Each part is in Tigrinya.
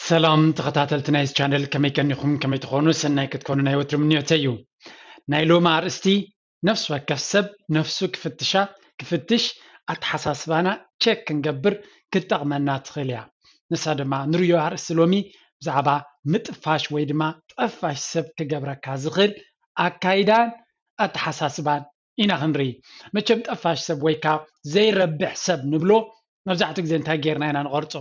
ሰላም ተኸታተልቲ ናይዚ ቻነል፣ ከመይ ቀኒኹም? ከመይ ትኾኑ? ሰናይ ክትኮኑ ናይ ወትሩ ምንዮተይ እዩ። ናይ ሎሚ ኣርእስቲ፣ ነፍሲ ወከፍ ሰብ ነፍሱ ክፍትሻ፣ ክፍትሽ፣ ኣተሓሳስባና ቸክ ክንገብር ክትጠቕመና ትኽእል እያ። ንሳ ድማ ንርእዮ ኣርእስቲ ሎሚ ብዛዕባ ምጥፋሽ ወይ ድማ ጠፋሽ ሰብ ክገብረካ ዝኽእል ኣካይዳን ኣተሓሳስባን ኢና ክንርኢ። መቸም ጠፋሽ ሰብ ወይ ከዓ ዘይረብሕ ሰብ ንብሎ መብዛሕትኡ ግዜ እንታይ ጌርና ኢና ንቐርጾ?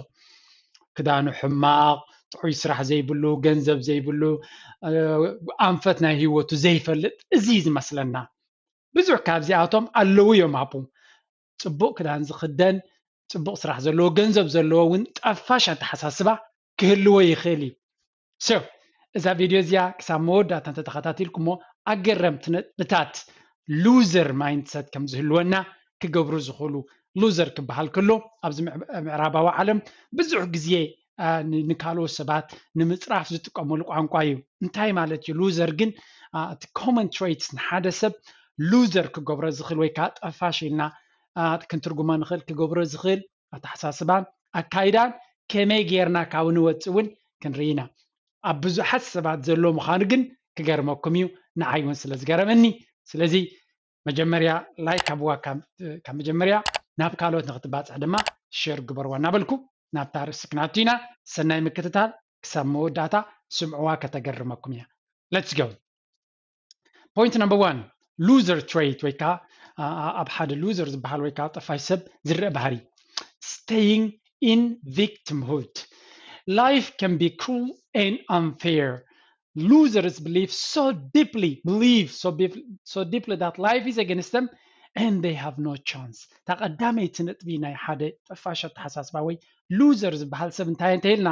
ክዳኑ ሕማቕ፣ ጥዑይ ስራሕ ዘይብሉ፣ ገንዘብ ዘይብሉ፣ ኣንፈት ናይ ህይወቱ ዘይፈልጥ፣ እዚ እዩ ዝመስለና። ብዙሕ ካብዚኣቶም ኣለዉ እዮም ኣብኡ። ጽቡቕ ክዳን ዝኽደን፣ ጽቡቕ ስራሕ ዘለዎ፣ ገንዘብ ዘለዎ እውን ጠፋሽ ኣተሓሳስባ ክህልዎ ይኽእል እዩ። So እዛ ቪድዮ እዚኣ ክሳብ መወዳእታ እንተተኸታቲልኩሞ ኣገረምቲ ነጥብታት ሉዘር ማይንድሰት ከም ዝህልወና ክገብሩ ዝኽእሉ። ሉዘር ክበሃል ከሎ ኣብዚ ምዕራባዊ ዓለም ብዙሕ ግዜ ንካልኦት ሰባት ንምፅራፍ ዝጥቀመሉ ቋንቋ እዩ። እንታይ ማለት እዩ ሉዘር ግን? እቲ ኮመን ትሬትስ ንሓደ ሰብ ሉዘር ክገብሮ ዝኽእል ወይ ከዓ ጠፋሽ ኢልና ክንትርጉሞ ንኽእል ክገብሮ ዝኽእል ኣተሓሳስባን ኣካይዳን ከመይ ጌርና ካብኡ ንወፅእ እውን ክንርኢ ኢና። ኣብ ብዙሓት ሰባት ዘሎ ምዃኑ ግን ክገርመኩም እዩ፣ ንዓይ እውን ስለ ዝገረመኒ። ስለዚ መጀመርያ ላይክ ሃብዋ፣ ካብ መጀመርያ ናብ ካልኦት ንክትባፅሕ ድማ ሸር ግበርዋ እናበልኩ ናብታ ርእሲ ክናቱ ኢና። ሰናይ ምክትታል፣ ክሳብ መወዳእታ ስምዕዋ፣ ከተገርመኩም እያ። Let's go። Point number one, loser trait ወይ ከዓ ኣብ ሓደ ሉዘር ዝበሃል ወይ ከዓ ጠፋሽ ሰብ ዝረአ ባህሪ፣ staying in victimhood. Life can be cruel and unfair. Losers believe so deeply, believe so, so deeply that life is against them and they have no chance. እታ ቀዳመይቲ ነጥቢ ናይ ሓደ ጠፋሽ ኣተሓሳስባ ወይ ሉዘር ዝበሃል ሰብ እንታይ እንተኢልና፣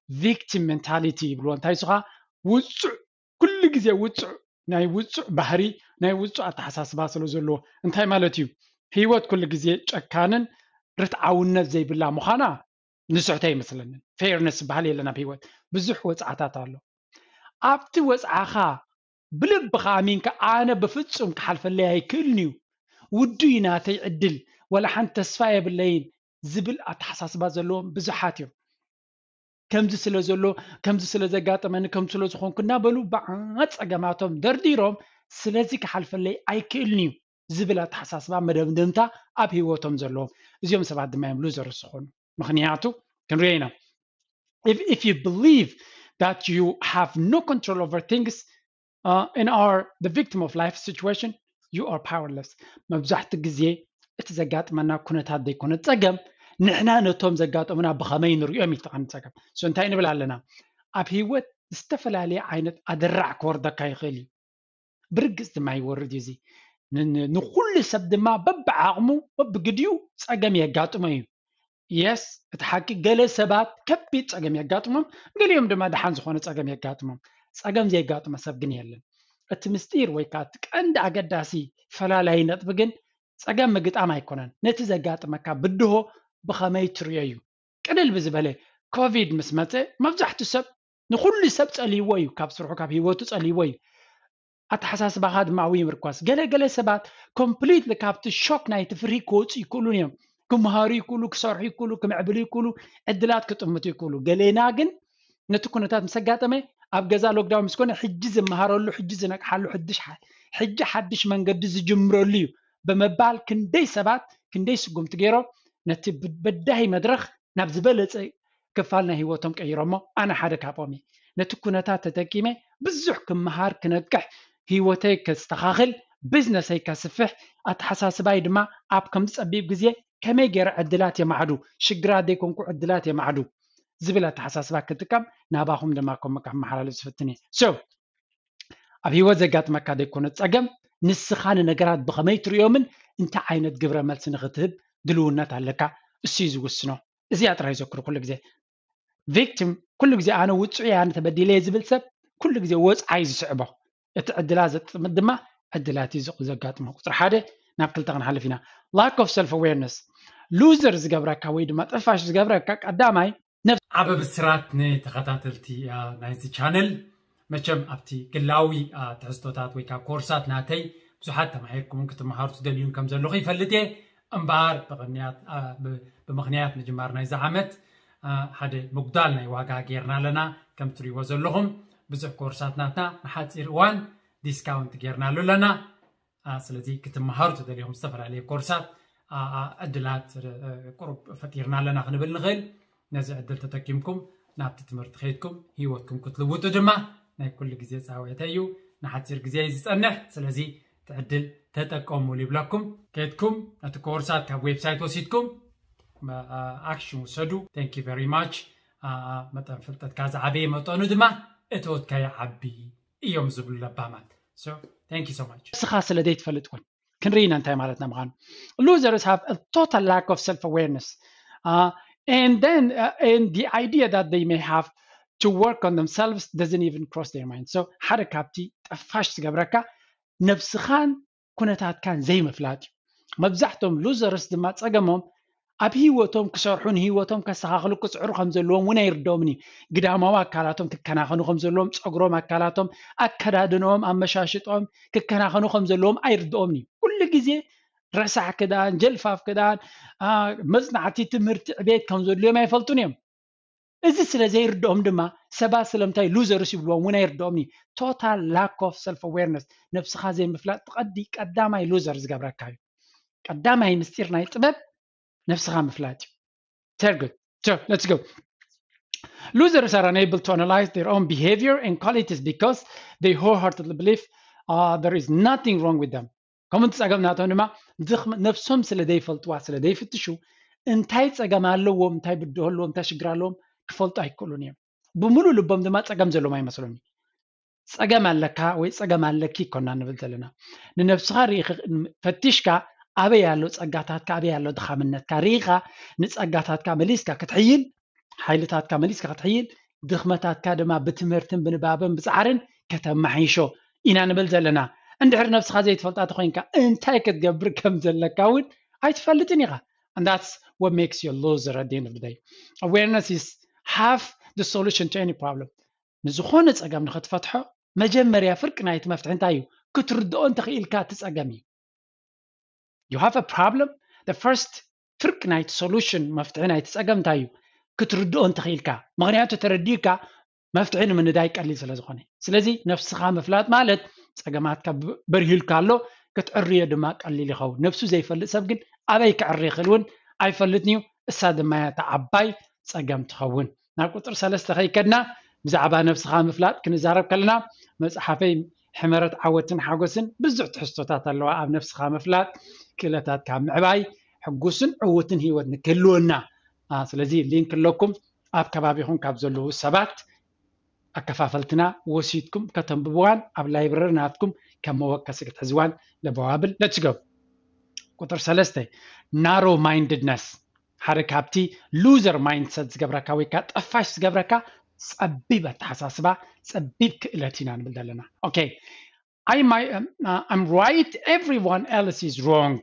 ቪክቲም ሜንታሊቲ ይብልዎ። እንታይ እሱ ከዓ ውፁዕ፣ ኩሉ ግዜ ውፁዕ፣ ናይ ውፁዕ ባህሪ፣ ናይ ውፁዕ ኣተሓሳስባ ስለ ዘለዎ። እንታይ ማለት እዩ? ህይወት ኩሉ ግዜ ጨካንን ርትዓውነት ዘይብላ ምዃና ንስሕቶ ኣይመስለንን። ፌርነስ ዝበሃል የለን ኣብ ህይወት። ብዙሕ ወፅዓታት ኣሎ። ኣብቲ ወፅዓኻ ብልብኻ ኣሚንካ ኣነ ብፍፁም ክሓልፈለይ ኣይክእልን እዩ፣ ውዱይ ናተይ ዕድል፣ ወላ ሓንቲ ተስፋ የብለይን ዝብል ኣተሓሳስባ ዘለዎም ብዙሓት እዮም። ከምዚ ስለ ዘሎ፣ ከምዚ ስለ ዘጋጠመኒ፣ ከምዚ ስለ ዝኾንኩ እናበሉ ብዓት ፀገማቶም ደርዲሮም ስለዚ ክሓልፈለይ ኣይክእልን እዩ ዝብል ኣተሓሳስባ መደምደምታ ኣብ ህይወቶም ዘለዎም። እዚኦም ሰባት ድማ እዮም ሉዘርስ ዝኾኑ። ምኽንያቱ ክንሪኦ ኢና። If, if you believe that you have no control over things uh, and are the victim of life situation, you are powerless. መብዛሕትኡ ግዜ እቲ ዘጋጥመና ኩነታት ዘይኮነ ፀገም፣ ንሕና ነቶም ዘጋጠሙና ብኸመይ ንሪኦም እዩ እቲ ቀንዲ ፀገም። So እንታይ ንብል ኣለና? ኣብ ህይወት ዝተፈላለየ ዓይነት ኣደራዕ ክወርደካ ይኽእል እዩ። ብርግፅ ድማ ይወርድ እዩ። እዚ ንኩሉ ሰብ ድማ በብዓቕሙ በብግዲኡ ፀገም የጋጥሞ እዩ። የስ፣ እቲ ሓቂ፣ ገለ ሰባት ከቢድ ፀገም የጋጥሞም፣ ገሊኦም ድማ ደሓን ዝኾነ ፀገም የጋጥሞም። ፀገም ዘየጋጥሞ ሰብ ግን የለን። እቲ ምስጢር ወይ ከዓ እቲ ቀንዲ ኣገዳሲ ፈላላይ ነጥቢ ግን ፀገም ምግጣም ኣይኮነን፣ ነቲ ዘጋጥመካ ብድሆ ብኸመይ ትሪኦ እዩ። ቅልል ብዝበለ፣ ኮቪድ ምስ መፀ መብዛሕትኡ ሰብ፣ ንኹሉ ሰብ ፀልይዎ እዩ፣ ካብ ስርሑ ካብ ህይወቱ ፀልይዎ እዩ። ኣተሓሳስባኻ ድማ ኣብኡ ይምርኮስ። ገለ ገለ ሰባት ኮምፕሊትሊ ካብቲ ሾክ ናይቲ ፍርሂ ክወፁ ይክእሉን እዮም። ክምሃሩ ይክእሉ፣ ክሰርሑ ይክእሉ፣ ክምዕብሉ ይክእሉ፣ ዕድላት ክጥምቱ ይክእሉ። ገሌና ግን ነቲ ኩነታት ምስ ኣጋጠመ ኣብ ገዛ ሎክዳውን ምስ ኮነ ሕጂ ዝመሃረሉ፣ ሕጂ ዝነቅሓሉ፣ ሕድሽ ሓ- ሕጂ ሓድሽ መንገዲ ዝጅምረሉ እዩ ብምባል ክንደይ ሰባት ክንደይ ስጉምቲ ገይሮም ነቲ ብ- በዳሂ መድረኽ ናብ ዝበለፀ ክፋል ናይ ህይወቶም ቀይሮሞ። ኣነ ሓደ ካብኦም እየ። ነቲ ኩነታት ተጠቂመ ብዙሕ ክመሃር፣ ክነቅሕ፣ ህይወተይ ከስተኻኽል፣ ቢዝነሰይ ከስፍሕ፣ ኣተሓሳስባይ ድማ ኣብ ከምዚ ፀቢብ ግዜ ከመይ ገይረ ዕድላት የማዕዱ፣ ሽግራት ዘይኮንኩ ዕድላት የማዕዱ ዝብል ኣተሓሳስባ ክጥቀም ናባኹም ድማ ከም ከመሓላልፍ ዝፍትን እየ። So ኣብ ህይወት ዘጋጥመካ ዘይኮነ ፀገም፣ ንስኻ ንነገራት ብኸመይ ትሪኦምን እንታይ ዓይነት ግብረ መልሲ ንኽትህብ ድልውነት ኣለካ፣ እሱ እዩ ዝውስኖ። እዚኣ ጥራይ ዘክሩ ኩሉ ግዜ። ቪክቲም ኩሉ ግዜ ኣነ ውፁዕ እየ፣ ኣነ ተበዲለ እየ ዝብል ሰብ ኩሉ ግዜ ወፅዓ እዩ ዝስዕቦ። እቲ ዕድላት ዘጥምት ድማ ዕድላት እዩ ዘ- ዘጋጥሞ። ቁፅሪ ሓደ። ናብ ክልተ ክንሓልፍ ኢና። Lack of self awareness፣ ሉዘር ዝገብረካ ወይ ድማ ጠፋሽ ዝገብረካ ቀዳማይ ነፍስ ዓበ ብስራት ንተኸታተልቲ ናይዚ ቻነል። መቸም ኣብቲ ግላዊ ትሕዝቶታት ወይ ከዓ ኮርሳት ናተይ ብዙሓት ተማሂርኩምን ክትመሃሩ ትደልዩን ከም ዘለኹ ይፈልጥ እየ። እምበኣር ብቕንያት ብምኽንያት ምጅማር ናይዚ ዓመት ሓደ ምጉዳል ናይ ዋጋ ጌርና ኣለና። ከም ትሪእዎ ዘለኹም ብዙሕ ኮርሳት ናትና ንሓፂር እዋን ዲስካውንት ጌርናሉ ኣለና። ስለዚ ክትመሃሩ ተደሊኹም ዝተፈላለየ ኮርሳት ዕድላት ቁሩብ ፈጢርና ኣለና ክንብል ንኽእል። ነዚ ዕድል ተጠቂምኩም ናብቲ ትምህርቲ ከይድኩም ህይወትኩም ክትልውጡ ድማ ናይ ኩሉ ግዜ ፃውዒተ እዩ። ንሓፂር ግዜ እዩ ዝፀንሕ። ስለዚ እቲ ዕድል ተጠቀሙሉ ይብለኩም። ከይድኩም ነቲ ኮርሳት ካብ ዌብሳይት ወሲድኩም ኣክሽን ውሰዱ። Thank you very much። መጠን ፍልጠትካ ዝዓበየ መጠኑ ድማ እተወትካዮ ዓቢ እዮም ዝብሉ ለባማት። So thank you so much። ንስኻ ስለ ዘይትፈልጥ እውን ክንርኢ ኢና እንታይ ማለትና ምዃኑ። Losers have a total lack of self awareness. Uh, and then uh, and the idea that they may have to work on themselves doesn't even cross their mind. So ሓደ ካብቲ ጠፋሽ ዝገብረካ ነብስኻን ኩነታትካን ዘይምፍላጥ እዩ። መብዛሕቶም ሉዘርስ ድማ ጸገሞም ኣብ ህይወቶም ክሰርሑ፣ ንህይወቶም ከስተኻኽሉ ክጽዕሩ ከም ዘለዎም እውን ኣይርድኦምን እዩ። ግዳማዊ ኣካላቶም ክከናኸኑ ከም ዘለዎም፣ ጸጉሮም፣ ኣካላቶም፣ ኣከዳድንኦም፣ ኣመሻሽጦም ክከናኸኑ ከም ዘለዎም ኣይርድኦምን እዩ። ኩሉ ግዜ ረሳሕ ክዳን፣ ጀልፋፍ ክዳን፣ መጽናዕቲ፣ ትምህርቲ፣ ዕቤት ከም ዘድልዮም ኣይፈልጡን እዮም። እዚ ስለ ዘይርድኦም ድማ ሰባት ስለምንታይ ሉዘርስ ይብልዎም እውን ኣይርድኦም እዩ። Total lack of self awareness፣ ነብስኻ ዘይምፍላጥ ቀዲ ቀዳማይ ሉዘር ዝገብረካ እዩ። ቀዳማይ ምስጢር ናይ ጥበብ ነብስኻ ምፍላጥ እዩ። Very good. So let's go. Losers are unable to analyze their own behavior and qualities because they wholeheartedly believe uh, there is nothing wrong with them. ከምኡ እቲ ጸገም ናቶም ድማ ነብሶም ስለ ዘይፈልጥዋ ስለ ዘይፍትሹ እንታይ ጸገም ኣለዎም፣ እንታይ ብድሆ ኣለዎም፣ እንታይ ሽግር ኣለዎም ክፈልጡ ኣይክእሉን እዮም። ብምሉእ ልቦም ድማ ጸገም ዘለዎም ኣይመስሎን እዩ። ጸገም ኣለካ ወይ ጸገም ኣለኪ ይኮና ንብል ዘለና። ንነብስኻ ርኢኻ ፈቲሽካ ኣበይ ኣሎ ጸጋታትካ፣ ኣበይ ኣሎ ድኻምነትካ ርኢኻ ንጸጋታትካ መሊስካ ክትሕይል፣ ሓይልታትካ መሊስካ ክትሕይል፣ ድኽመታትካ ድማ ብትምህርትን ብንባብን ብጻዕርን ከተማሓይሾ ኢና ንብል ዘለና። እንድሕር ነብስኻ ዘይትፈልጣ ተኾይንካ እንታይ ክትገብር ከም ዘለካ እውን ኣይትፈልጥን ኢኻ። And that's what makes you a loser at the end of the day. Awareness is half the solution to any problem. ንዝኾነ ጸገም ንኽትፈትሖ መጀመርያ ፍርቂ ናይቲ መፍትሒ እንታይ እዩ? ክትርድኦ እንተኽኢልካ እቲ ጸገም እዩ። You have a problem, the first ፍርቂ ናይቲ solution፣ መፍትሒ ናይቲ ጸገም እንታይ እዩ? ክትርድኦ እንተኽኢልካ። ምኽንያቱ ተረዲእካ መፍትሒ ንምንዳይ ቀሊል ስለ ዝኾነ። ስለዚ ነብስኻ ምፍላጥ ማለት ጸገማትካ በርሂልካ ኣሎ ክትዕርዮ ድማ ቀሊል ይኸውን። ነብሱ ዘይፈልጥ ሰብ ግን ኣበይ ክዕሪ ይኽእል እውን ኣይፈልጥን እዩ። እሳ ድማ እያ እታ ዓባይ ጸገም ትኸውን። ናብ ቁጽሪ ሰለስተ ከይከድና ብዛዕባ ነብስኻ ምፍላጥ ክንዛረብ ከለና መጽሓፈይ ሕመረት ዓወትን ሓጎስን ብዙሕ ትሕዝቶታት ኣለዋ። ኣብ ነብስኻ ምፍላጥ ክእለታትካ ምዕባይ ሕጉስን ዕዉትን ህይወት ንክህልወና። ስለዚ ሊንክ ኣለኩም ኣብ ከባቢኹም ካብ ዘለዉ ሰባት ኣከፋፈልትና ወሲድኩም ከተንብብዋን ኣብ ላይብረሪ ናትኩም ከም መወከሲ ክትሕዝዋን ለበዋብል። Let's go። ቁጥር ሰለስተ፣ narrow mindedness ሓደ ካብቲ loser mindset ዝገብረካ ወይ ከዓ ጠፋሽ ዝገብረካ ጸቢብ ኣተሓሳስባ፣ ጸቢብ ክእለት ኢና ንብል ዘለና። Okay, I might, um, uh, I'm right, everyone else is wrong.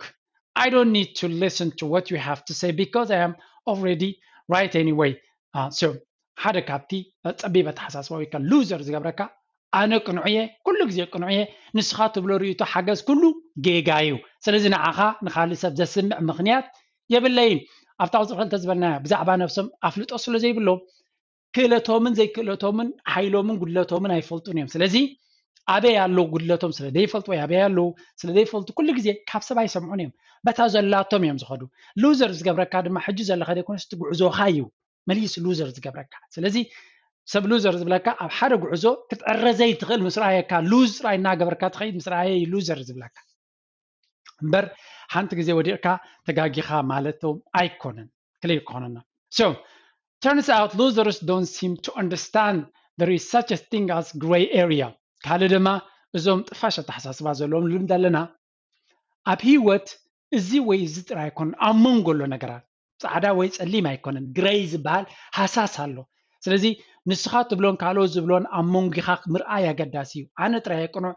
I don't need to listen to what you have to say because I am already right anyway. Uh, so ሓደ ካብቲ ጸቢብ ኣተሓሳስባ ወይ ከዓ loser ዝገብረካ ኣነ ቅኑዕ እየ፣ ኩሉ ግዜ ቅኑዕ እየ፣ ንስኻ ትብሎ ርእይቶ ሓገዝ ኩሉ ጌጋ እዩ። ስለዚ ንዓኻ ንኻልእ ሰብ ዘስምዕ ምኽንያት የብለይን። ኣብታ ቁፅሪ ክልተ ዝበልናያ ብዛዕባ ነብሶም ኣፍልጦ ስለ ዘይብሎም ክእለቶምን ዘይክእለቶምን ሓይሎምን ጉድለቶምን ኣይፈልጡን እዮም። ስለዚ ኣበይ ኣለዉ ጉድለቶም ስለ ዘይፈልጡ ወይ ኣበይ ኣለዉ ስለ ዘይፈልጡ ኩሉ ግዜ ካብ ሰብ ኣይሰምዑን እዮም። በታ ዘላቶም እዮም ዝኸዱ። ሉዘር ዝገብረካ ድማ ሕጂ ዘለኻ ዘይኮነስ እቲ ጉዕዞኻ እዩ መሊሱ ሉዘር ዝገብረካ። ስለዚ ሰብ ሉዘር ዝብለካ ኣብ ሓደ ጉዕዞ ክትዕረ ዘይትኽእል ምስ ረኣየካ ሉዝ ጥራይ እናገበርካ ትኸይድ ምስ ረኣየ እዩ ሉዘር ዝብለካ እምበር ሓንቲ ግዜ ወዲቕካ ተጋጊኻ ማለት ኣይኮነን። ክሊር ክኾነና። So turns out losers don't seem to understand there is such a thing as gray area። ካልእ ድማ እዞም ጥፋሽ ኣተሓሳስባ ዘለዎም ልምድ ኣለና ኣብ ህይወት እዚ ወይ እዚ ጥራይ ኣይኮነን ኣብ መንጎ ኣሎ ነገራት ፃዕዳ ወይ ፀሊም ኣይኮነን ግረይ ዝበሃል ሃሳስ ኣሎ። ስለዚ ንስኻ ትብሎን ካልኦት ዝብሎን ኣብ መንጎኻ ምርኣይ ኣገዳሲ እዩ። ኣነ ጥራይ ቅኑዕ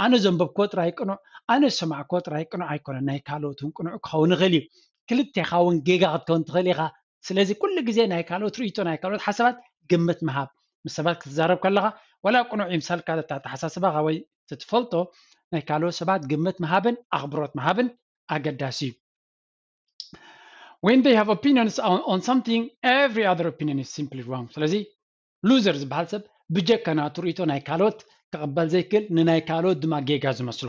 ኣነ ዘንበብኮ ጥራይ ቅኑዕ ኣነ ዝሰማዕኮ ጥራይ ቅኑዕ ኣይኮነን ናይ ካልኦት እውን ቅኑዕ ክኸውን ይኽእል እዩ። ክልቴኻ እውን ጌጋ ክትከውን ትኽእል ኢኻ። ስለዚ ኩሉ ግዜ ናይ ካልኦት ርእይቶ ናይ ካልኦት ሓሳባት ግምት ምሃብ ምስ ሰባት ክትዛረብ ከለኻ ዋላ ቅኑዕ ይምሰልካ ኣተሓሳስባኻ ወይ ትትፈልጦ ናይ ካልኦት ሰባት ግምት ምሃብን ኣኽብሮት ምሃብን ኣገዳሲ እዩ። When they have opinions on, on something, every other opinion is simply wrong. ስለዚ loser ዝበሃል ሰብ ብጀካ ናቱ ርእይቶ ናይ ካልኦት ክቕበል ዘይክእል፣ ንናይ ካልኦት ድማ ጌጋ ዝመስሎ።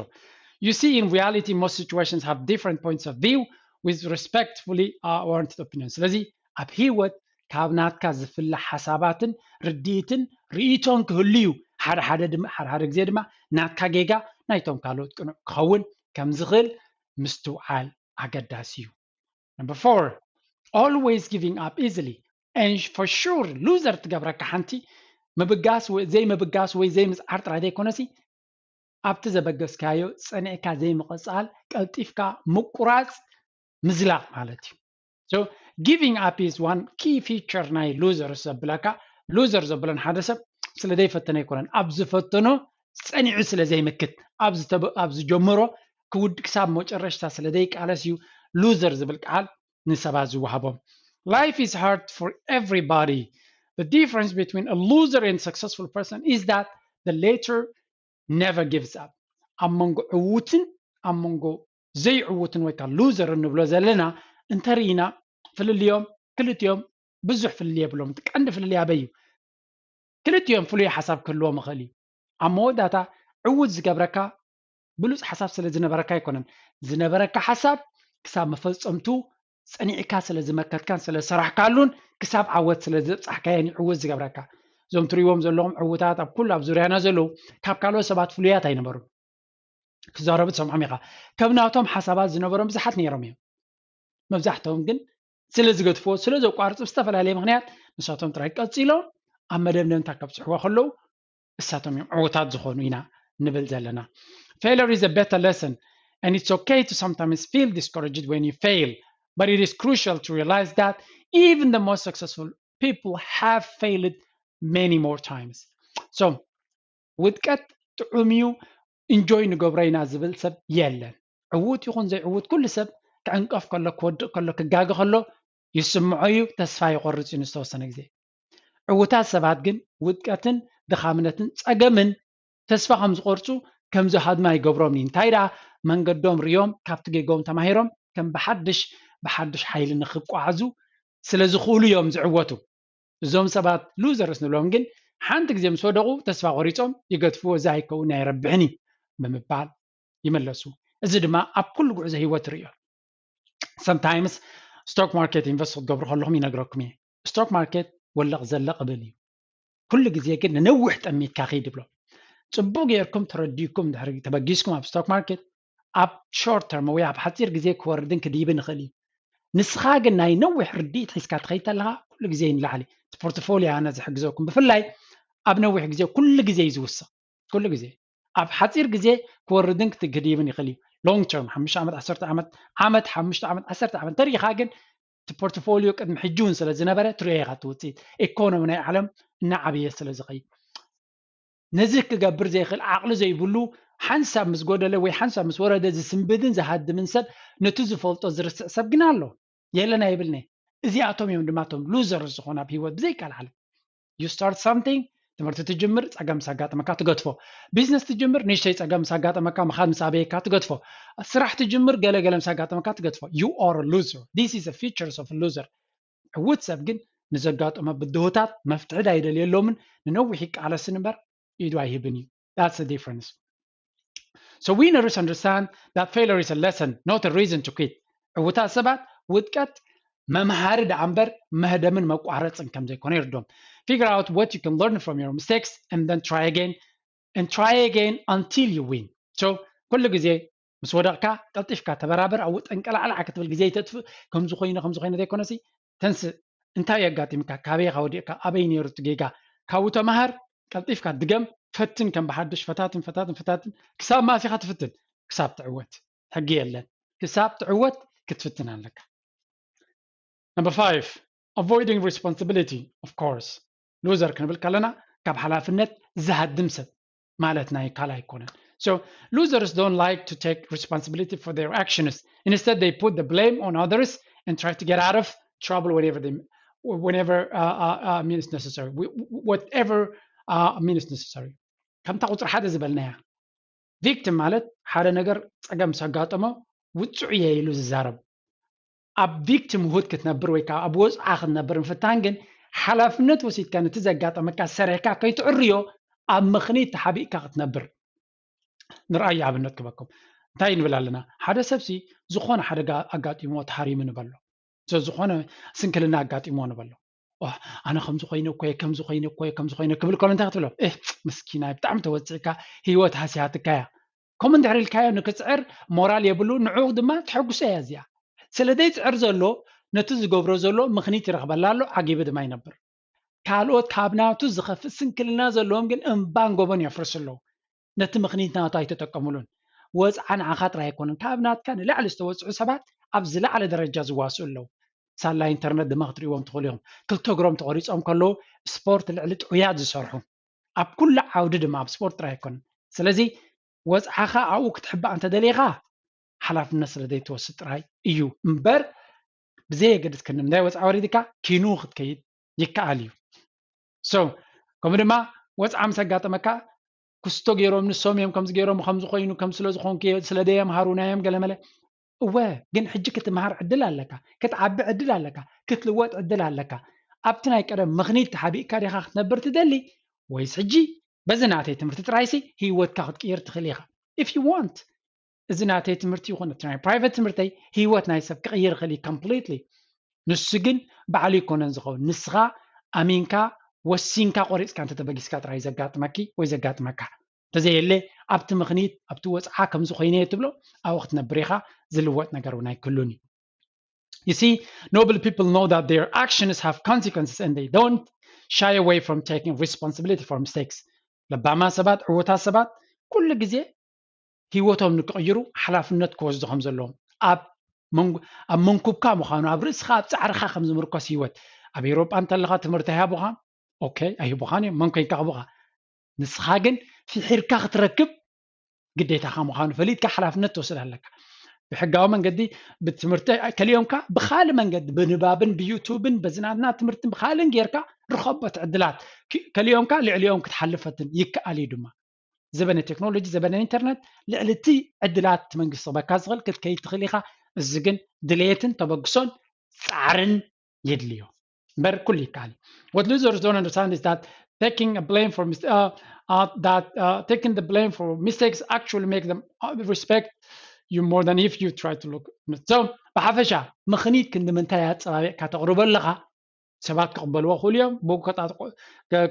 You see, in reality, most situations have different points of view with respectfully warranted opinions. ስለዚ ኣብ ህይወት ካብ ናትካ ዝፍለ ሓሳባትን ርድኢትን ርእይቶን ክህሉ እዩ። ሓደ ሓደ ግዜ ድማ ናትካ ጌጋ ናይቶም ካልኦት ቅኑዕ ክኸውን ከም ዝኽእል ምስትውዓል ኣገዳሲ እዩ። Number four, always giving up easily. And for sure, loser ትገብረካ ሓንቲ ምብጋስ ዘይምብጋስ ወይ ዘይምፅዓር ጥራይ ዘይኮነሲ ኣብቲ ዘበገስካዮ ፀኒዕካ ዘይምቕፃል፣ ቀልጢፍካ ምቁራፅ፣ ምዝላቕ ማለት እዩ። So giving up is one key feature ናይ losers ዘብለካ። Loser ዘብለን ሓደ ሰብ ስለ ዘይፈተነ ኣይኮነን፣ ኣብ ዝፈተኖ ፀኒዑ ስለ ዘይምክት፣ ኣብ ዝጀመሮ ክሳብ መጨረሽታ ስለ ዘይቃለስ እዩ loser ዝብል ቃል ንሰባት ዝወሃቦም። Life is hard for everybody. The difference between a loser and successful person is that the latter never gives up. ኣብ መንጎ ዕዉትን ኣብ መንጎ ዘይዕዉትን ወይ ከዓ loser እንብሎ ዘለና እንተርኢና ፍልልዮም ክልቲኦም ብዙሕ ፍልልይ የብሎም። ቀንዲ ፍልልይ ኣበይ እዩ? ክልቲኦም ፍሉይ ሓሳብ ክህልዎም ይኽእል እዩ። ኣብ መወዳእታ ዕዉት ዝገብረካ ብሉፅ ሓሳብ ስለ ዝነበረካ ኣይኮነን። ዝነበረካ ሓሳብ ክሳብ መፈፀምቱ ፀኒዕካ ስለ ዝመከትካን ስለ ዝሰራሕካሉን ክሳብ ዓወት ስለ ዝበፃሕካዮን እዩ ዕዉት ዝገብረካ። እዞም ትሪእዎም ዘለኹም ዕዉታት ኣብ ኩሉ ኣብ ዙርያና ዘለዉ ካብ ካልኦት ሰባት ፍሉያት ኣይነበሩን። ክዛረቡ ትሰምዖም ኢኻ። ከም ናቶም ሓሳባት ዝነበሮም ብዙሓት ነይሮም እዮም። መብዛሕትኦም ግን ስለ ዝገድፍዎ ስለ ዘቋርፁ ብዝተፈላለየ ምክንያት ንሳቶም ጥራይ ቀፂሎም ኣብ መደምደምታ ከብፅሕዎ ከለዉ እሳቶም እዮም ዕዉታት ዝኾኑ ኢና ንብል ዘለና። Failure is a better lesson and it's okay to sometimes feel discouraged when you fail, but it is crucial to realize that even the most successful people have failed many more times. So ውድቀት ጥዑም እዩ፣ enjoy ንገብሮ ኢና ዝብል ሰብ የለን። ዕዉት ይኹን ዘይዕዉት ኩሉ ሰብ ክዕንቀፍ ከሎ ክወድቕ ከሎ ክጋገ ከሎ ይስምዖ እዩ፣ ተስፋ ይቆርፅ እዩ ንዝተወሰነ ግዜ። ዕዉታት ሰባት ግን ውድቀትን ድኻምነትን ፀገምን ተስፋ ከም ዝቆርፁ ከም ዝሃድማ ይገብሮም እዩ። እንታይ ደኣ መንገዶም ሪኦም ካብቲ ጌጎም ተማሂሮም ከም ብሓድሽ ብሓድሽ ሓይሊ ንክቋዓዙ ስለ ዝኽእሉ እዮም ዝዕወቱ። እዞም ሰባት losers ንብሎም ግን ሓንቲ ግዜ ምስ ወደቑ ተስፋ ቆሪፆም ይገድፍዎ፣ እዚ ኣይከውን ኣይረብሕን እዩ ብምባል ይመለሱ። እዚ ድማ ኣብ ኩሉ ጉዕዞ ህይወት ርዮ። Sometimes stock market invest ክትገብሩ ከለኹም ይነግረኩም እየ። Stock market ወለቕ ዘለቕ እብል እዩ። ኩሉ ግዜ ግን ንነዊሕ ጠሚትካ ኺድ ይብሎ። ፅቡቅ ጌርኩም ተረዲእኩም ድሕሪ ተበጊስኩም ኣብ stock market ኣብ short term ወይ ኣብ ሓፂር ግዜ ክወርድን ክድይብን ይኽእል እዩ። ንስኻ ግን ናይ ነዊሕ ርድኢት ሒዝካ ትኸይድ ተለኻ ኩሉ ግዜ ንላዕሊ እቲ portfolio ኣነ ዝሕግዘኩም። ብፍላይ ኣብ ነዊሕ ግዜ ኩሉ ግዜ እዩ ዝውስኽ። ኩሉ ግዜ ኣብ ሓፂር ግዜ ክወርድን ክድይብን ይኽእል እዩ። Long term ሓሙሽተ ዓመት ዓሰርተ ዓመት ዓመት ሓሙሽተ ዓመት ዓሰርተ ዓመት እንተሪኢኻ ግን እቲ portfolio ቅድሚ ሕጂ እውን ስለ ዝነበረ ትሪኦ ኢኻ እቲ ውፅኢት። ኢኮኖሚ ናይ ዓለም እናዓበየ ስለ ዝኸይድ ነዚ ክገብር ዘይኽእል ዓቕሊ ዘይብሉ ሓንሳብ ምስ ጎደለ ወይ ሓንሳብ ምስ ወረደ ዝስንብድን ዝሃድምን ሰብ ነቲ ዝፈልጦ ዝርስዕ ሰብ ግን ኣሎ። የለን ኣይብልኒ። እዚኣቶም እዮም ድማ እቶም losers ዝኾኑ ኣብ ህይወት ብዘይቃልዓለም። You start something ትምህርቲ ትጅምር ፀገም ምስ ኣጋጠመካ ትገድፎ። ቢዝነስ ትጅምር ንእሽተይ ፀገም ምስ ኣጋጠመካ ምኻድ ምስ ኣበየካ ትገድፎ። ስራሕ ትጅምር ገለ ገለ ምስ ኣጋጠመካ ትገድፎ። You are a loser. This is a features of a loser. ዕዉት ሰብ ግን ንዘጋጠሞ ብድሆታት መፍትሒ ኣይደልየሎምን። ንነዊሕ ይቃለስን እምበር ኢዱ ኣይህብን እዩ። That's the difference. So winners understand that failure is a lesson, not a reason to quit. ዕዉታት ሰባት ውድቀት መምሃሪ ደኣ እምበር መህደምን መቋረፅን ከም ዘይኮነ ይርዶም። Figure out what you can learn from your mistakes and then try again and try again until you win. So ኩሉ ግዜ ምስ ወደቕካ ቀልጢፍካ ተበራበር፣ ኣብኡ ጠንቀላዕላዕ ክትብል ግዜ ይተጥፍእ። ከምዚ ኮይኑ ከምዚ ኮይኑ ዘይኮነሲ ተንስእ፣ እንታይ የጋጢምካ፣ ካበይ ኢኻ ወዲቕካ፣ ኣበይ ነይሩ እቲ ጌጋ፣ ካብኡ ተምሃር፣ ቀልጢፍካ ድገም፣ ፈትን ከም ብሓድሽ፣ ፈታትን ፈታትን ፈታትን ክሳብ መኣስ ኢኻ ትፍትን? ክሳብ ትዕወት። ሕጊ የለን። ክሳብ ትዕወት ክትፍትን ኣለካ። Number five, avoiding responsibility, of course. Loser ክንብል ከለና ካብ ሓላፍነት ዝሃድም ሰብ ማለት ናይ ካልእ ኣይኮነን። So losers don't like to take responsibility for their actions. Instead, they put the blame on others and try to get out of trouble whenever they, whenever uh, uh, uh, means necessary. Wh- wh- Whatever uh, means necessary. ከምታ ቁፅሪ ሓደ ዝበልናያ victim ማለት ሓደ ነገር ፀገም ምስ ኣጋጠሞ ውፅዑ እየ ኢሉ ዝዛረብ። ኣብ victimhood ክትነብር ወይ ከዓ ኣብ ወፅዓ ክትነብር ምፍታን ግን ሓላፍነት ወሲድካ ነቲ ዘጋጠመካ ሰሪሕካ ከይትዕርዮ ኣብ ምኽኒት ተሓቢእካ ክትነብር ንርኣይ ኣብነት ክበኩም እንታይ ንብል ኣለና ሓደ ሰብሲ ዝኾነ ሓደጋ ኣጋጢሞ ተሃሪሙ ንበሎ ዝኾነ ስንክልና ኣጋጢሞ ንበሎ ኣነ ከምዚ ኮይነ እኮ ከምዚ ኮይነ እኮ ከምዚ ኮይነ ክብል ከሎ እንታይ ክትብሎ ምስኪናይ ብጣዕሚ ተወፂእካ ህይወት ሃሲያትካ እያ ከምኡ እንድሕር ኢልካዮ ንክፅዕር ሞራል የብሉ ንዑ ድማ ተሐጉሰ እያ እዚኣ ስለ ዘይፅዕር ዘሎ ነቲ ዝገብሮ ዘሎ ምኽኒት ይረኽበላ ኣሎ ዓጊቢ ድማ ይነብር ካልኦት ካብ ናቱ ዝኸፍእ ስንክልና ዘለዎም ግን እምባን ጎቦን የፍርሱ ኣለዉ ነቲ ምኽኒት ናቱ ኣይተጠቀሙሉን ወፅዓ ንዓኻ ጥራይ ኣይኮነን ካብ ናትካ ንላዕሊ ዝተወፅዑ ሰባት ኣብ ዝለዓለ ደረጃ ዝዋስኡ ኣለዉ ሳላ ኢንተርነት ድማ ክትሪእዎም ትኽእሉ ኢኹም ክልተ እግሮም ተቆሪፆም ከለዉ ስፖርት ልዕሊ ጥዑያት ዝሰርሑ ኣብ ኩሉ ዓውዲ ድማ ኣብ ስፖርት ጥራይ ኣይኮነን ስለዚ ወፅዓኻ ኣብኡ ክትሕባእ እንተደሊኻ ሓላፍነት ስለ ዘይትወስድ ጥራይ እዩ እምበር ብዘየገድስ ክንዲ ምንታይ ወፅዓ ወሪድካ ኪኑ ክትከይድ ይከኣል እዩ so ከምኡ ድማ ወፅዓ ምስ ኣጋጠመካ ክስቶ ገይሮም ንሶም እዮም ከምዚ ገይሮም ከምዚ ኮይኑ ከም ስለ ዝኾንኩ ስለ ደየምሃሩና እዮም ገለመለ እወ ግን ሕጂ ክትምሃር ዕድል ኣለካ ክትዓቢ ዕድል ኣለካ ክትልወጥ ዕድል ኣለካ ኣብቲ ናይ ቀደም ምኽኒት ተሓቢእካ ዲኻ ክትነብር ትደሊ ወይስ ሕጂ በዚ ናተይ ትምህርቲ ጥራይሲ ህይወትካ ክትቅይር ትኽእል ኢኻ if you want እዚ ናተይ ትምህርቲ ይኹን እቲ ናይ private ትምህርተይ ህይወት ናይ ሰብ ክቕይር ይኽእል እዩ completely ንሱ ግን ባዕሉ ይኮነን ዝኸውን ንስኻ ኣሚንካ ወሲንካ ቆሪፅካ እንተተበጊስካ ጥራይ ዘጋጥመኪ ወይ ዘጋጥመካ እንተዘየለ ኣብቲ ምኽኒት ኣብቲ ወፅዓ ከምዚ ኮይነ እየ ትብሎ ኣብኡ ክትነብር ኢኻ ዝልወጥ ነገር እውን ኣይክህሉን እዩ You see, noble people know that their actions have consequences and they don't shy away from taking responsibility for mistakes. ለባማ ሰባት ዕውታት ሰባት ኩሉ ግዜ ህይወቶም ንክቕይሩ ሓላፍነት ክወስዱ ከም ዘለዎም ኣብ ኣብ መንኩብካ ምዃኑ ኣብ ርእስኻ ኣብ ፃዕርኻ ከም ዝምርኮስ ህይወት ኣብ ኤሮጳ እንተለኻ ትምህርቲ ኣይሃቡኻ ኦኬ ኣይህቡኻን እዮም መን ኮይንካ ክቡኻ ንስኻ ግን ፍሒርካ ክትረክብ ግዴታኻ ምዃኑ ፈሊጥካ ሓላፍነት ትወስድ ኣለካ ብሕጋዊ መንገዲ ብትምህርቲ ከሊኦምካ ብካልእ መንገዲ ብንባብን ብዩቱብን በዝናትና ትምህርትን ብካልእን ጌርካ ርኸቦት ዕድላት ከሊኦምካ ልዕሊኦም ክትሓልፈትን ይከኣል እዩ ድማ ዘበነ ቴክኖሎጂ ዘበነ ኢንተርነት ልዕሊ እቲ ዕድላት እቲ መንግስቲ ክበካ ዝኽእል ክትከይድ ትኽእል ኢኻ እዚ ግን ድሌትን ተበግሶን ፃዕርን የድልዮ እምበር ኩሉ ይከኣል what losers don't understand is that taking a blame for mis- uh, uh, that uh, taking the blame for mistakes actually make them uh, respect you more than if you try to look so ብሓፈሻ ምኽኒት ክንዲ ምንታይ ኣፀባቢቕካ ተቕርቦ ኣለኻ ሰባት ክቕበልዎ ክእሉ እዮም ብኡ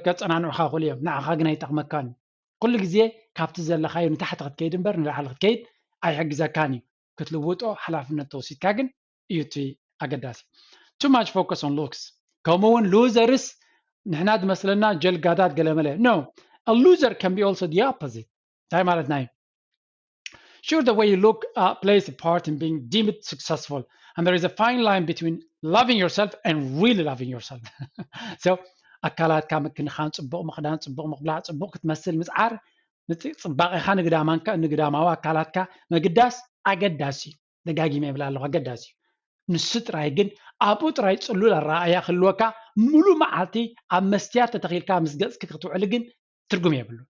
ከፀናንዑኻ ክእሉ እዮም ንዓኻ ግን ኣይጠቕመካን እዩ ኩሉ ግዜ ካብቲ ዘለኻዮ ንታሕቲ ክትከይድ እምበር ንላዕሊ ክትከይድ ኣይሕግዘካን እዩ ክትልውጦ ሓላፍነት ተወሲድካ ግን እዩ እቲ ኣገዳሲ too much focus on looks ከምኡ እውን losers ንሕና ዝመስለና ጀልጋዳት ገለመለ no a loser can be also the opposite እንታይ ማለትና እዩ Sure, the way you look uh, plays a part in being deemed successful. And there is a fine line between loving yourself and really loving yourself. so, ኣካላትካ ምክንኻን ፅቡቕ ምኽዳን ፅቡቕ ምኽብላዕ ፅቡቕ ክትመስል ምፅዓር ፅባቐኻ ንግዳማዊ ኣካላትካ ምግዳስ ኣገዳሲ እዩ ደጋጊመ ይብላ ኣለኹ ኣገዳሲ እዩ ንሱ ጥራይ ግን ኣብኡ ጥራይ ፅሉል ኣረኣእያ ክህልወካ ሙሉእ መዓልቲ ኣብ መስትያት ተተኺልካ ምስ ገፅኪ ክትውዕሊ ግን ትርጉም የብሉ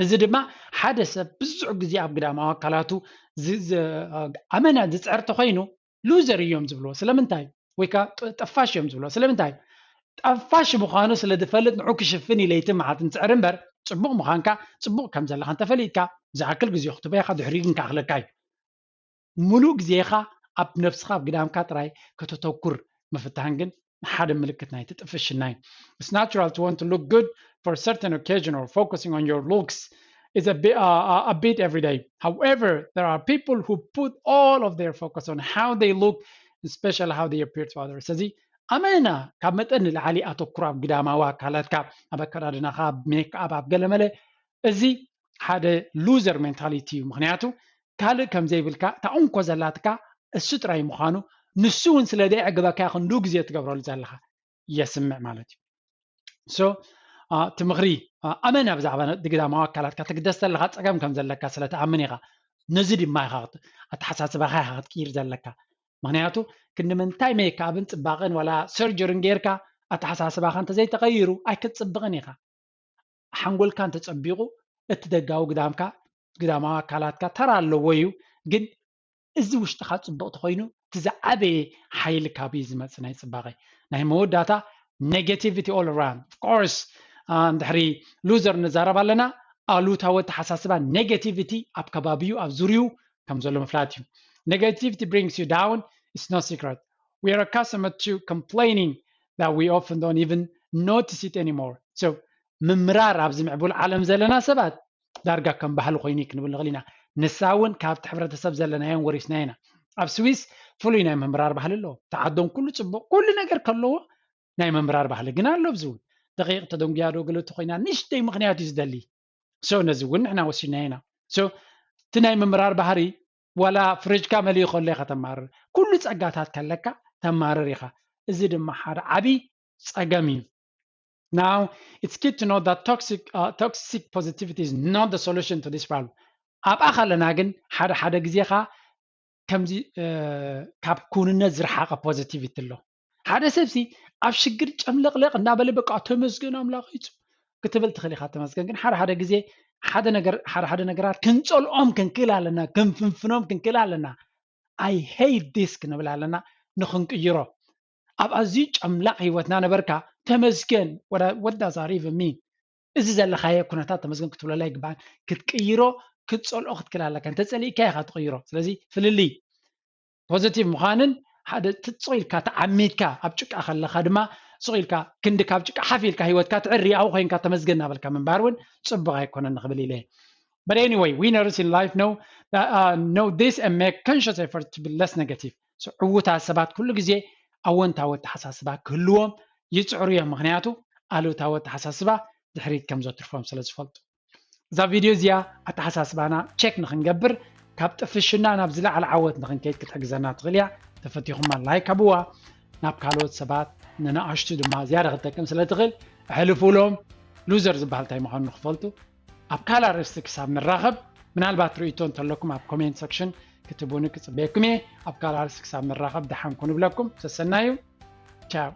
እዚ ድማ ሓደ ሰብ ብዙሕ ግዜ ኣብ ግዳማዊ ኣካላቱ ኣመና ዝፅዕር ተኮይኑ ሉዘር እዮም ዝብልዎ ስለምንታይ ወይ ከዓ ጠፋሽ እዮም ዝብልዎ ስለምንታይ ጠፋሽ ምዃኑ ስለ ዝፈልጥ ንዑ ክሽፍን ኢለይቲ መዓልቲ ንፅዕር እምበር ፅቡቅ ምዃንካ ፅቡቅ ከም ዘለካ እንተፈሊጥካ ዝኣክል ግዜ ክትበይካ ድሕሪኡ ግን ክኣክለካ እዩ ሙሉእ ግዜኻ ኣብ ነብስኻ ኣብ ግዳምካ ጥራይ ከተተኩር ምፍታን ግን ሓደ ምልክት ናይቲ ጥፍሽና እዩ። It's natural to want to look good for a certain occasion or focusing on your looks is a bit, uh, a bit every day. However, there are people who put all of their focus on how they look, especially how they appear to others. ስለዚ ኣመና ካብ መጠን ንላዕሊ ኣተኩሮ ኣብ ግዳማዊ ኣካላትካ ኣብ ኣከዳድናኻ ኣብ ሜክኣፕ ኣብ ገለመለ እዚ ሓደ ሉዘር ሜንታሊቲ እዩ ምክንያቱ ካልእ ከም ዘይብልካ እታ እንኮ ዘላትካ እሱ ጥራይ ምዃኑ ንሱ እውን ስለ ደይዕግበካ ክንዱ ግዜ ትገብረሉ ዘለኻ የስምዕ ማለት እዩ so እቲ ምኽሪ ኣመና ብዛዕባ ግዳማዊ ኣካላትካ ትግደስ ዘለካ ፀገም ከም ዘለካ ስለ ትኣምን ኢኻ ነዚ ድማ ኢኻ ኣተሓሳስባኻ ኢኻ ክትቅይር ዘለካ ምክንያቱ ክንዲ ምንታይ ሜካብን ፅባቐን ዋላ ሰርጀርን ጌርካ ኣተሓሳስባኻ እንተዘይተቐይሩ ኣይክትፅብቕን ኢኻ ሓንጎልካ እንተፀቢቑ እቲ ደጋዊ ግዳምካ ግዳማዊ ኣካላትካ ተራ ኣለዎ እዩ ግን እዚ ውሽጥኻ ፅቡቕ ተኮይኑ እቲ ዝዓበየ ሓይሊ ካብዩ ዝመፅእ ናይ ፅባቐ ናይ መወዳእታ negativity all around of course። ድሕሪ loser ንዛረብ ኣለና። ኣሉታዊ ኣተሓሳስባ negativity ኣብ ከባቢኡ ኣብ ዙሪኡ ከም ዘሎ ምፍላጥ እዩ። Negativity brings you down. It's no secret. We are accustomed to complaining that we often don't even notice it anymore. So ምምራር ኣብዚ ምዕቡል ዓለም ዘለና ሰባት ዳርጋ ከም ባህሊ ኮይኑ እዩ ክንብል ንኽእል ኢና። ንሳ እውን ካብቲ ሕብረተሰብ ዘለናዮን ወሪስና ኢና። ኣብ ስዊስ ፍሉይ ናይ ምምራር ባህሊ ኣለዎ። ተዓዶም ኩሉ ፅቡቕ ኩሉ ነገር ከለዎ ናይ ምምራር ባህሊ ግን ኣሎ። ኣብዚ እውን ደቂቕ ተደንጉያ ዶ ገለ ተኮይና ንሽተይ ምክንያት እዩ ዝደሊ። So ነዚ እውን ንሕና ወሲድና ኢና። So እቲ ናይ ምምራር ባህሪ ዋላ ፍሪጅካ መሊኡ ከሎ ኢኻ ተማርር። ኩሉ ፀጋታት ከለካ ተማርር ኢኻ። እዚ ድማ ሓደ ዓብይ ፀገም እዩ። Now, it's key to know that toxic, uh, toxic positivity is not the solution to this problem. ኣብኣ ከለና ግን ሓደ ሓደ ግዜኻ ከምዚ ካብ ኩንነት ዝረሓቐ positivity ኣሎ። ሓደ ሰብሲ ኣብ ሽግር ጨምለቕለቕ እናበለ በቃ ተመስገን ኣምላኽ ይፁ ክትብል ትኽእል ኢኻ። ተመስገን ግን ሓደ ሓደ ግዜ ሓደ ነገር ሓደ ሓደ ነገራት ክንፀልኦም ክንክእል ኣለና፣ ክንፍንፍኖም ክንክእል ኣለና። I hate this ክንብል ኣለና ንክንቅይሮ። ኣብ ኣዝዩ ጨምላቕ ህይወትና ነበርካ ተመስገን ወዳ ዛሪቭ ሚ እዚ ዘለኻዮ ኩነታት ተመስገን ክትብለላ ይግባእ። ክትቅይሮ ክትፀልኦ ክትክእል ኣለካ። እንተፀሊእካ ኢኻ ትቕይሮ። ስለዚ ፍልልይ positive ምዃንን ሓደ ትፅቕ ኢልካ ተዓሚትካ ኣብ ጭቃ ከለኻ ድማ ስቕ ኢልካ ክንዲ ካብ ጭቃ ሓፍ ኢልካ ህይወትካ ትዕሪ ኣብኡ ኮይንካ ተመስገን እናበልካ ምንባር እውን ፅቡቕ ኣይኮነን ንክብል ኢለ። But anyway, winners in life know, uh, know this and make conscious effort to be less negative. So ዕውታት ሰባት ኩሉ ግዜ ኣወንታዊ ኣተሓሳስባ ክህልዎም ይፅዕሩ እዮም። ምክንያቱ ኣሉታዊ ኣተሓሳስባ ድሕሪት ከም ዘትርፎም ስለ ዝፈልጡ። እዛ ቪድዮ እዚኣ ኣተሓሳስባና ቸክ ንክንገብር ካብ ጥፍሽና ናብ ዝለዓለ ዓወት ንክንከይድ ክትሕግዘና ትኽእል እያ። ተፈቲኹማ ላይክ ኣብዋ። ናብ ካልኦት ሰባት ንነኣሽቱ ድማ ዝያዳ ክትጠቅም ስለ ትኽእል ኣሕልፉሎም። ሉዘር ዝበሃል እንታይ ምዃኑ ንክፈልጡ። ኣብ ካልእ ኣርእስቲ ክሳብ ንራኸብ ምናልባት ርእይቶ እንተለኩም ኣብ ኮሜንት ሰክሽን ክትቡኒ ክፅበየኩም እየ። ኣብ ካልእ ኣርእስቲ ክሳብ ንራኸብ ደሓን ኩኑ ብለኩም። ሰሰናዩ። ቻው።